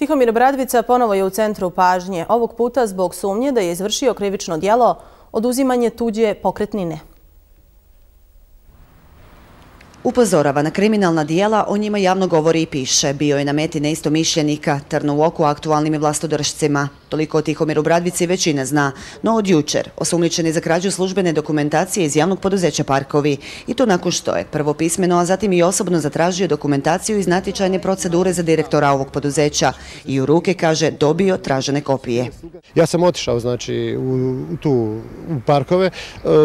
Tihomir Bradvica ponovo je u centru pažnje, ovog puta zbog sumnje da je izvršio krivično djelo oduzimanje tuđe pokretnine. Upozorava na kriminalna dijela, o njima javno govori i piše. Bio je na meti neistomišljenika, trn u oku aktualnim vlastodržcima. Toliko o Tihomiru Bradvici većina zna, no od jučer osumnjičen je za krađu službene dokumentacije iz javnog poduzeća Parkovi. I to nakon što je prvo pismeno, a zatim i osobno zatražio dokumentaciju iz natječajne procedure za direktora ovog poduzeća i u ruke, kaže, dobio tražene kopije. Ja sam otišao u Parkove,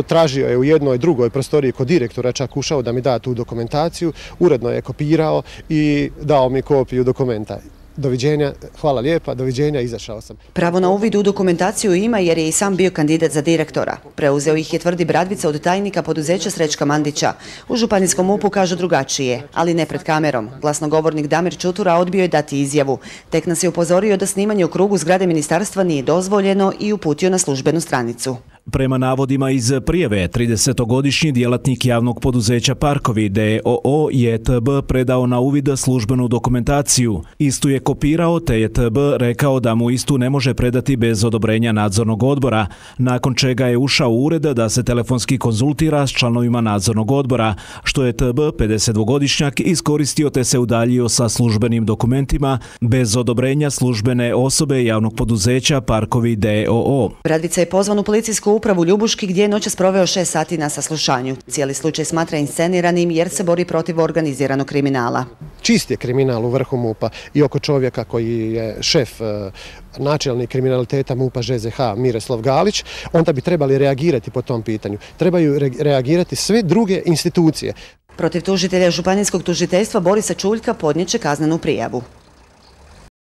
tražio je u jednoj drugoj prostoriji kod direktora, čak ušao da mi da tu dokumentaciju, uredno je kopirao i dao mi kopiju dokumenta. Doviđenja, hvala lijepa, doviđenja, izašao sam. Pravo na uvid u dokumentaciju ima jer je i sam bio kandidat za direktora. Preuzeo ih je, tvrdi Bradvica, od tajnika poduzeća Srećka Mandića. U županijskom MUP-u kažu drugačije, ali ne pred kamerom. Glasnogovornik Damir Čutura odbio je dati izjavu. Tek nas je upozorio da snimanje u krugu zgrade ministarstva nije dozvoljeno i uputio na službenu stranicu. Prema navodima iz prijave, 30-godišnji djelatnik javnog poduzeća Parkovi d.o.o. je TB predao na uvid službenu dokumentaciju. Istu je kopirao, te je TB rekao da mu istu ne može predati bez odobrenja nadzornog odbora, nakon čega je ušao u ured da se telefonski konzultira s članovima nadzornog odbora, što je TB, 52-godišnjak, iskoristio te se udaljio sa službenim dokumentima bez odobrenja službene osobe javnog poduzeća Parkovi d.o.o. Bradvica je pozvan u policijsku upravu Ljubuški gdje je noćas proveo 6 sati na saslušanju. Cijeli slučaj smatra insceniranim jer se bori protiv organiziranog kriminala. Čist je kriminal u vrhu MUP-a i oko čovjeka koji je šef načelnik kriminaliteta MUP-a ŽZH Miroslav Galić, onda bi trebali reagirati po tom pitanju. Trebaju reagirati sve druge institucije. Protiv tužitelja županijskog tužiteljstva Borisa Čuljka podnijet će kaznenu prijavu.